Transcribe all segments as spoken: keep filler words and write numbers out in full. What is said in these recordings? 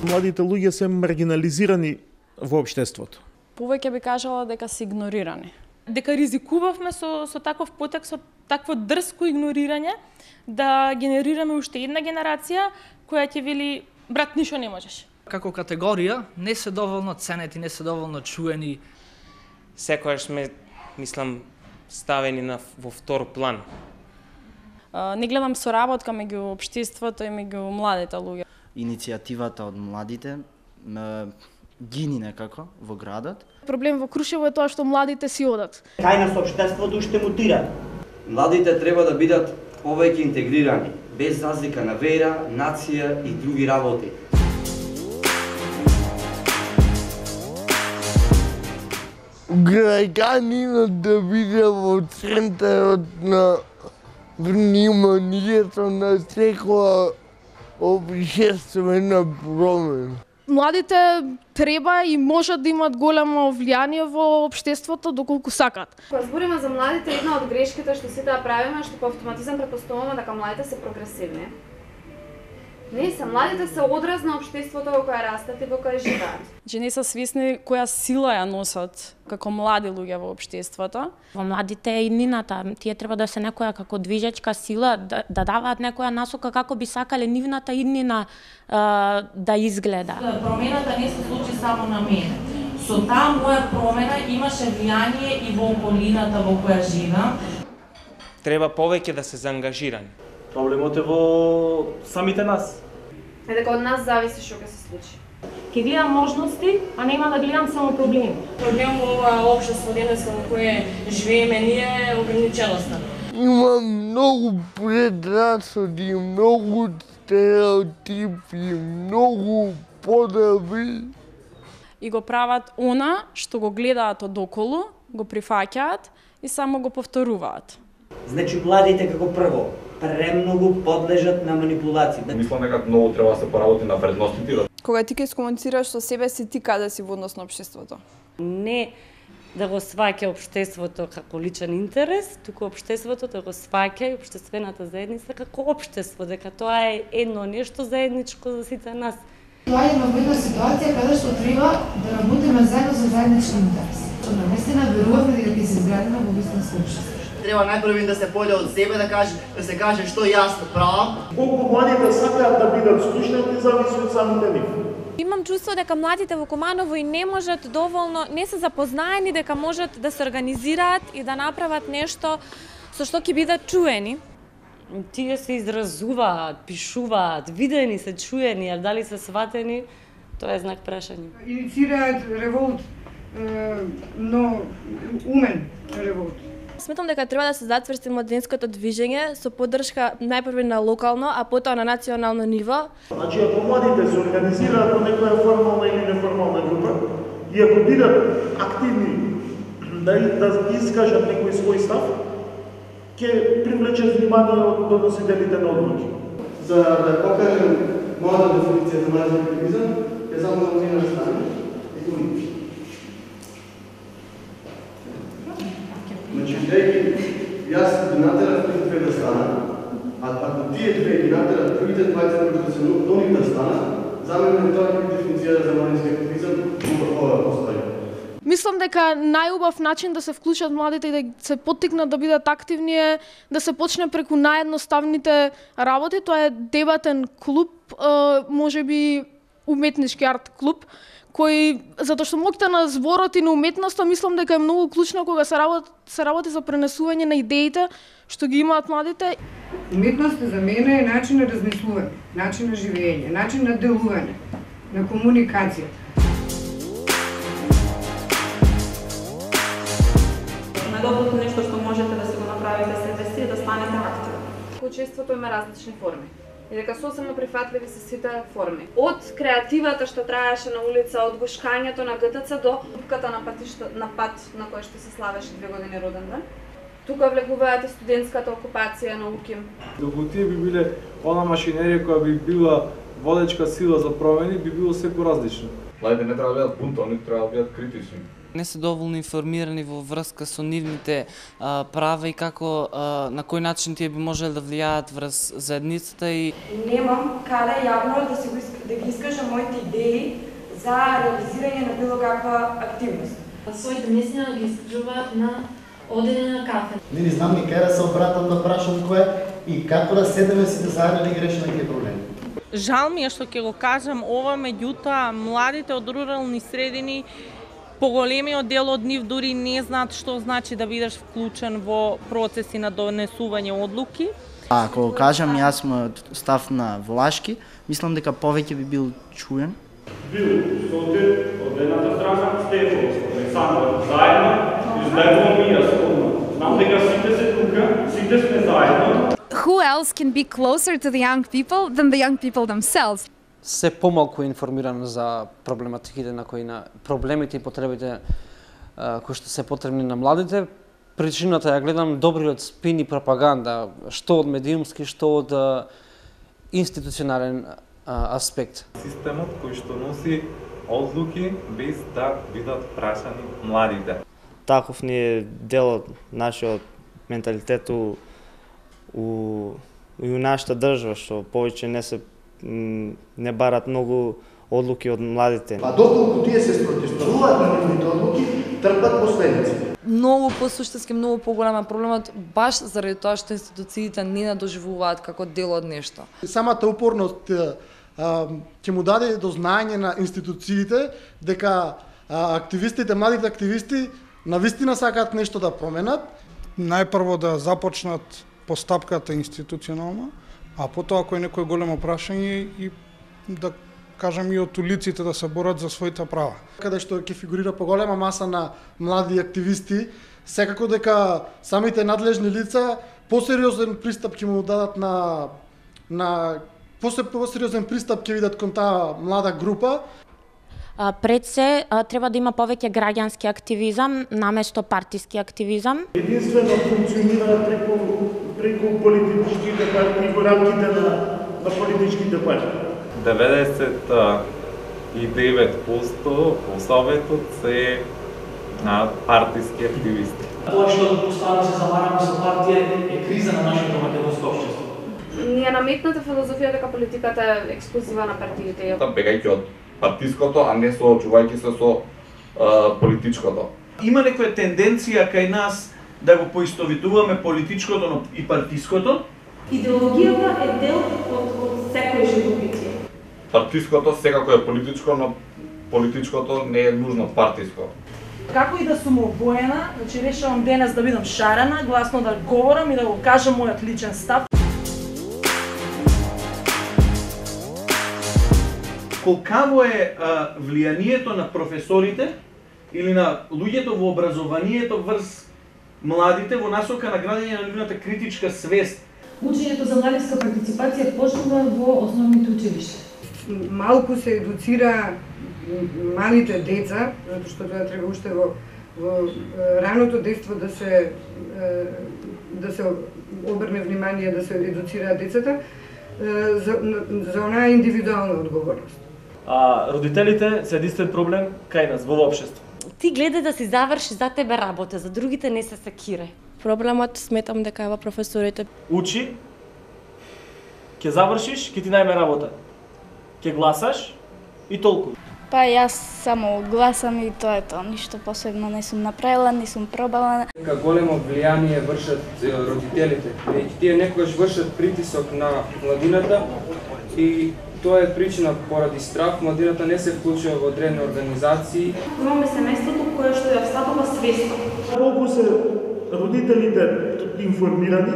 Младите луѓе се маргинализирани во општеството. Повеќе би кажала дека се игнорирани. Дека ризикувавме со, со таков потек, со такво дрско игнорирање, да генерираме уште една генерација која ќе вели, брат, ништо не можеш. Како категорија не се доволно ценети, не се доволно чуени. Секојаш сме, мислам, ставени на, во втор план. Не гледам соработка меѓу општеството и меѓу младите луѓе. Иницијативата од младите гини некако во градот. Проблем во Крушево е тоа што младите си одат. Кај нас општеството уште мутира. Младите треба да бидат повеќе интегрирани, без разлика на вера, нација и други работи. Граѓанинот да биде во центарот на вниманието на секоја општествена промена. Младите треба и можат да имат големо влијание во општеството доколку сакат. Кога збориме за младите, една од грешките што сите да правиме, што по автоматизам претпоставуваме дека младите се прогресивни. Не се, младите се одраз на општеството во кое растат и во кое живеат. Че не се свесни која сила ја носат како млади луѓе во општеството. Во младите е иднината, тие треба да се некоја како движечка сила, да, да даваат некоја насока како би сакале нивната иднина а, да изгледа. Промената не се случи само на мене. Со таа моја промена имаше влијание и во околината во која живеам. Треба повеќе да се заангажирани. Проблемот е во самите нас. Е дека од нас зависи што ќе се случи. Ќе гледам можности, а нема да гледам само проблеми. Проблем во ова општество денеска во кое живееме ние е ограниченоста. Има многу предрасуди, многу стереотипи, многу подоби. И го прават она што го гледаат од околу, го прифаќаат и само го повторуваат. Значи младите како прво премногу подлежат на манипулации. Мислам дека многу треба да се поработи на вредностите. Кога ти ќе искомуницираш со себе си, ти каде си во однос на општеството? Не да го сваќа општеството како личен интерес, туку општеството да го сваќа и општествената заедница како општество, дека тоа е едно нешто заедничко за сите нас. Доаѓаме во една ситуација каде што треба да работиме заедно за заеднички интерес. Што навистина веруваме дека ќе се изградиме во вистинско општество. Треба најпрво да се појде од себе, да каже, да се каже што јас правам. Колку младите сакаат да бидат слушнати, зависи од самите нив. Имам чувство дека младите во Куманово и не можат доволно, не се запознаени дека можат да се организираат и да направат нешто со што ќе бидат чуени. Тие се изразуваат, пишуваат, видени се, чуени, а дали се сватени, тоа е знак прашање. Инициираат револт, но умен револт. Сметам дека треба да се затврсти младинското движење со поддршка најпрво на локално, а потоа на национално ниво. Значи, ако младите се организираат во некоја формална или неформална група и ако бидат активни да, да искажат некој свој став, ќе привлечат внимание од доносителите на одлуки. За да покажем мојата дефиниција за млади активизам, ќе само да ми настане и туни. Значи, дејки, јас ги натерав тие две да станат, а ако тие две ги натерав другите дваесет кои што се до нив да станат, за мене тоа ќе биде дефиниција за младински активизам во ова постои. Мислам дека најубав начин да се вклучат младите и да се поттикнат да бидат активни е да се почне преку наједноставните работи. Тоа е дебатен клуб, можеби уметнички арт клуб, кој, затоа што моќта на зборот и на уметноста, мислам дека е многу клучно кога се работи, се работи за пренесување на идеите што ги имаат младите. Уметноста за мене е начин на размислување, начин на живење, начин на делување, на комуникација. Најдоброто нешто што можете да си го направите себе си е да станете активни. Учеството има различни форми. И дека сосема прифатливи се сите форми. Од креативата што траеше на улица, од гушкањето на ГТЦ до пупката на патишта, на пат на кој што се славеше две години роден ден. Тука влегуваат и студентската окупација на УКИМ. Доколку тие би биле она машинерија која би била водечка сила за промени, би било секој различно. Младите не треба да бидат бунтовни, треба да бидат критични. Не се доволно информирани во врска со нивните а, права и како а, на кој начин тие би можеле да влијаат врз заедницата и немам каде јавно да се го да ги искажам моите идеи за реализирање на било каква активност. Своите мислења ги искажуваат на одење на кафе. Не, не знам ни кај да се обратам да прашам кој и како да седеме сите заедно да ги решиме тие проблеми. Жал ми е што ќе го кажам ова, меѓутоа младите од рурални средини, поголемиот дел од нив дури не знаат што значи да бидеш вклучен во процеси на донесување одлуки. А, ако кажам јас мојот став на Влашки, мислам дека повеќе би бил чуен. Бил Соте, од едната страна, Стефан, Александр, заедно, излегувам и јас одма. Знам дека сите се тука, сите сме заедно. Who else can be closer to the young people than the young people themselves? Се помалку информиран за проблематиките на кои на проблемите и потребите а, кои што се потребни на младите. Причината ја гледам добриот спин и пропаганда, што од медиумски, што од а, институционален а, аспект. Системот кој што носи одлуки без да бидат прашани младите. Таков ни е дел од нашиот менталитет у, у, у нашата држава, што повеќе не се не барат многу одлуки од младите. Па доколку тие се спротивставуваат на нивните одлуки, трпат последици. Многу посуштински, многу поголема проблемот баш заради тоа што институциите не надоживуваат како дел од нешто. Самата упорност ќе му даде до знаење на институциите дека а, активистите, младите активисти навистина сакаат нешто да променат. Најпрво да започнат постапката институционално, а потоа ако е некој големо прашање и да кажам и од улиците да се борат за своите права. Каде што ќе фигурира поголема маса на млади активисти, секако дека самите надлежни лица посериозен пристап ќе му дадат на на посериозен пристап ќе видат кон таа млада група. А, пред се а, треба да има повеќе граѓански активизам наместо партиски активизам. Единствено функционира преку преку политичките партии во рамките на на политичките партии. деветдесет и девет проценти во Советот се а, партиски активисти. Тоа што постојано се завараме со партија е криза на нашето македонско општество. Ни е наметната филозофија дека политиката е ексклузива на партиите. Бегајќи од партиското, а не соочувајќи се со а, политичкото. Има некоја тенденција кај нас да го поистовитуваме политичкото и партиското. Идеологијата е дел од, од секој животбитие. Партиското секако е политичко, но политичкото не е нужно партиско. Како и да сум обоена, значи решавам денес да бидам шарена, гласно да говорам и да го кажам мојот личен став. Колкаво е а, влијанието на професорите или на луѓето во образованието врз младите во насока на градење на нивната критичка свест? Учењето за младинска партиципација почнува во основните училишта. Малку се едуцира малите деца, затоа што тоа треба уште во, во раното детство да се да се обрне внимание, да се едуцираат децата за за онаа индивидуална одговорност. А родителите се единствен проблем кај нас во општество. Ти гледај да си заврши за тебе работа, за другите не се секире. Проблемот сметам дека е во професорите. Учи, ќе завршиш, ќе ти најме работа. Ќе гласаш и толку. Па јас само гласам и тоа е тоа, ништо посебно не сум направила, не сум пробала. Дека големо влијание вршат родителите, веќе тие некогаш вршат притисок на младината и тоа е причина поради страх, младината не се вклучува во одредени организации. Имаме семејството кое што ја встапува свесно. Колку се родителите информирани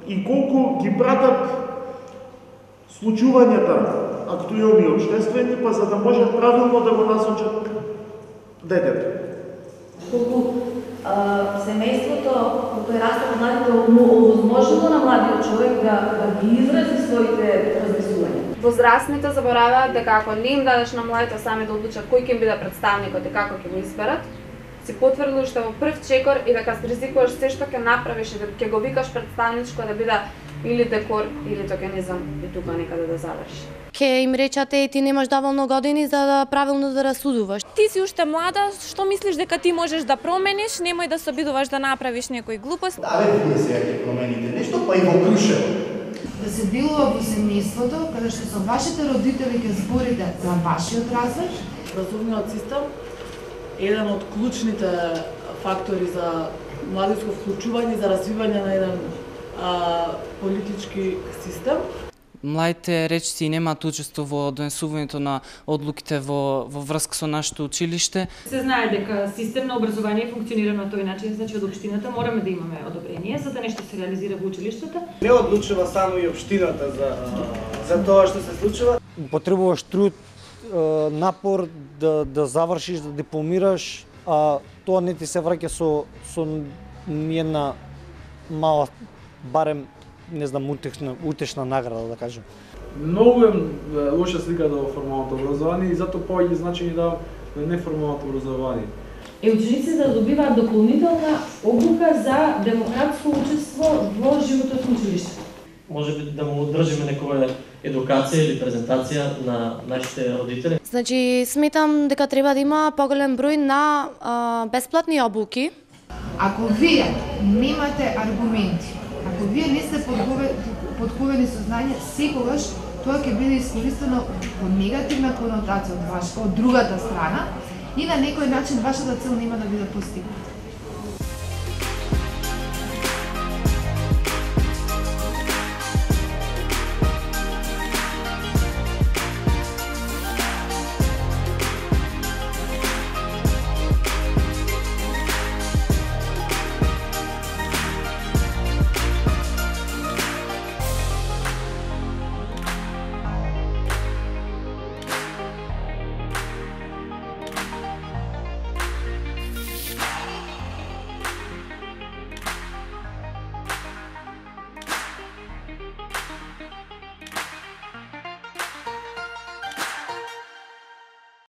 и колку ги пратат случувањата актуелни општествени, па за да можат правилно да го насочат детето. Колку а, семејството, колку е растат младите, овозможило на младиот човек да, да ги изрази своите размислувања. Возрастните забораваат дека ако не им дадеш на младите сами да одлучат кој ќе им биде представникот и како ќе го изберат, си потврдил уште во прв чекор и дека ризикуваш се што ќе направиш и дека ќе го викаш представничко да биде или декор, или токенизам и тука некаде да заврши. Ке им речате и ти немаш доволно години за да правилно да расудуваш. Ти си уште млада, што мислиш дека ти можеш да промениш, немој да се обидуваш да направиш некој глупост. Абе, вие сега ќе промените нешто, па и во Крушево. Да се делува во семејството, каде што со вашите родители ќе зборите за вашиот развој. Образовниот систем е еден од клучните фактори за младинско вклучување, за развивање на еден а, политички систем. Младите речици немаат учество во донесувањето на одлуките во, во врска со нашето училиште. Се знае дека систем на образование функционира на тој начин, значи од општината мораме да имаме одобрение за да нешто се реализира во училиштата. Не одлучува само и општината за, за тоа што се случува. Потребуваш труд, напор да, да завршиш, да дипломираш, а тоа не ти се враќа со, со една мала, барем, не знам, утешна, утешна награда, да кажем. Многу е лоша сликата во формалното образование и затоа повеќе значење да на неформалното образование. Е, учениците да добиваат дополнителна обука за демократско учество во животот на училиштето. Може би да му одржиме некоја едукација или презентација на нашите родители. Значи, сметам дека треба да има поголем број на а, бесплатни обуки. Ако вие немате аргументи, ако вие не сте подковени со знање, секогаш тоа ќе биде искористено во негативна конотација од, ваш, од другата страна и на некој начин вашата цел нема да биде постигната.